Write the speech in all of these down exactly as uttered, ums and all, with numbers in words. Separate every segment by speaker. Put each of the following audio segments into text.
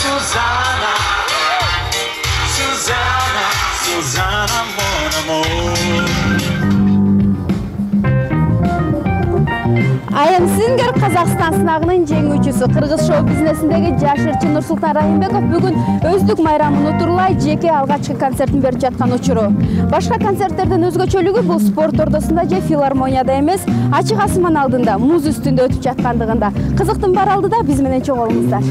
Speaker 1: Susanna, Susanna, Susanna, mon amour.
Speaker 2: I am Singer Казакстан сынагынын жеңүүчүсү кыргыз шоу бизнесиндеги жаш ырчы Нурсултан Райымбеков бүгүн өздүк майрамын утурлай жеке алгачкы концертин берип жаткан учуру. Башка концерттерден өзгөчөлүгү бул спорт ордосунда же филармонияда эмес, ачык асман алдында, муз үстүндө өтүп жаткандыгында. Кызыктын бар алдыда биз менен чоң болуңуздар.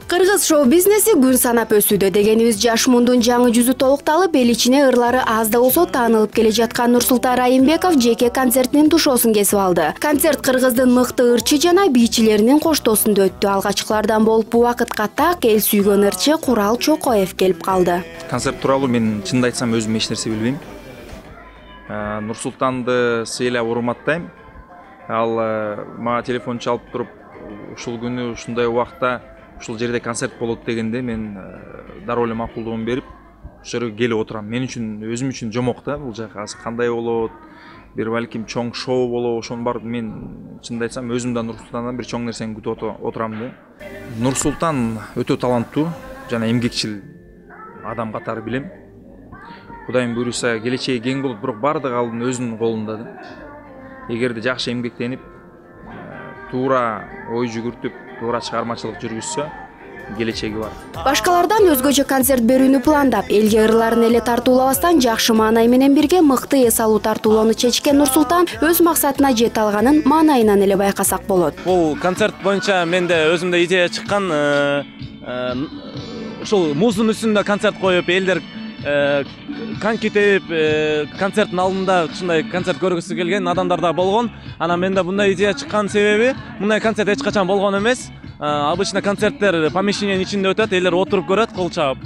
Speaker 2: Кыргыз шоу бизнеси күн санап өсүүдө дегенибиз жаш мундун жаңы жүзү толукталып, эл ичине ырлары аз да болсо таанылып келе жаткан Нурсултан Райымбеков жеке концертинин тушоосун кесип алды. Концерт кыргыздын мыкты ырчы жана бийчилеринин коштоосунда өттү. Алгачкылардан болуп бул вакытка так эл сүйгөн ырчы Курал Чокоев келип калды.
Speaker 3: Концерт тууралуу мен чынды айтсам өзүм эч нерсе билбейм. Нурсултанды сыйлап урматтайм. Ал мага телефон чалып туруп, ушул күнү ушундай убакта ушул жерде концерт болот дегенде мен дароо эле макулдугун берип, ошол жерге келип отурам. Мен үчүн өзүм үчүн жомок да бул жак. Азыр кандай болот? Бир балким чоң шоу болобу, ошону барып мен чынды айтсам өзүм да Нурсултандан бир чоң нерсени күтүп отурам да. Нурсултан өтө таланттуу жана эмгекчил адам катары билем. Кудайым буйруса келечеги кең болуп, бирок бардыгы алдын өзүнүн колунда да. Эгерде жакшы эмгектенип, туура ой жүгүртүп, туура чыгармачылык жүргүзсө, келечеги бар.
Speaker 2: Башкалардан өзгөчө концерт берүүнү пландап, элге ырларын эле тартуулабастан жакшы маанай менен бирге мыкты эс алуу тартуулоону чечкен Нурсултан өз максатына жете алганын маанайынан эле байкасак болот.
Speaker 4: Бул концерт боюнча менде өзүмдө идея чыккан, ушул муздун үстүндө концерт коюп, элдер коньки терип, концерттин алдында ушундай концерт көргүсү келген адамдар да болгон. Анан менде мындай идея чыккан себеби, мындай концерт эч качан болгон эмес. Обычно концерттер помещениянын ичинде өтөт, элдер отуруп көрөт, кол чаап.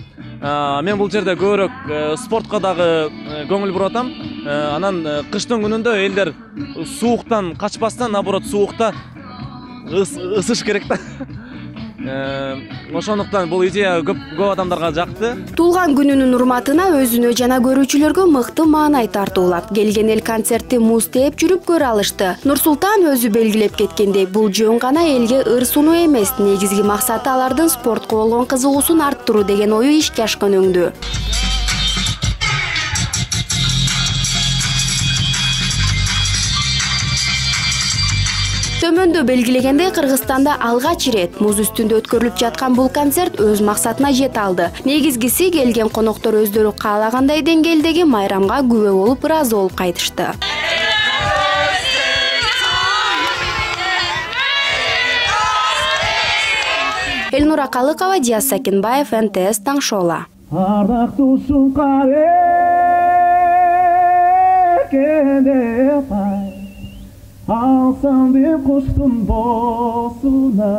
Speaker 4: Мен бул жерде көбүрөөк спортко дагы көңүл буруп атам. Анан кыштын күнүндө элдер сууктан качпастан, наоборот, суукта ысыш керек да. Ошондуктан бул идея көп көп адамдарга жакты.
Speaker 2: Туулган күнүнүн урматына өзүнө жана көрүүчүлөргө мыкты маанай тартуулап, келген эл концертти муз тээп жүрүп көрө алышты. Нурсултан өзү белгилеп кеткендей, бул жөн гана элге ыр сунуу эмес, негизги максаты алардын спортко болгон кызыгуусун арттыруу деген ою ишке ашкан өңдүү. Төмөндө белгилегендей, Кыргызстанда алгач ирет муз үстүндө өткөрүлүп жаткан бул концерт өз максатына жете алды. Негизгиси келген коноктор өздөрү каалагандай деңгээлдеги майрамга күбө болуп, ыраазы болуп кайтышты. Элнура Калыкова, Диас Сакинбаев, эн тэ эс Таңшола.
Speaker 5: Alsam bir kuştun bosuna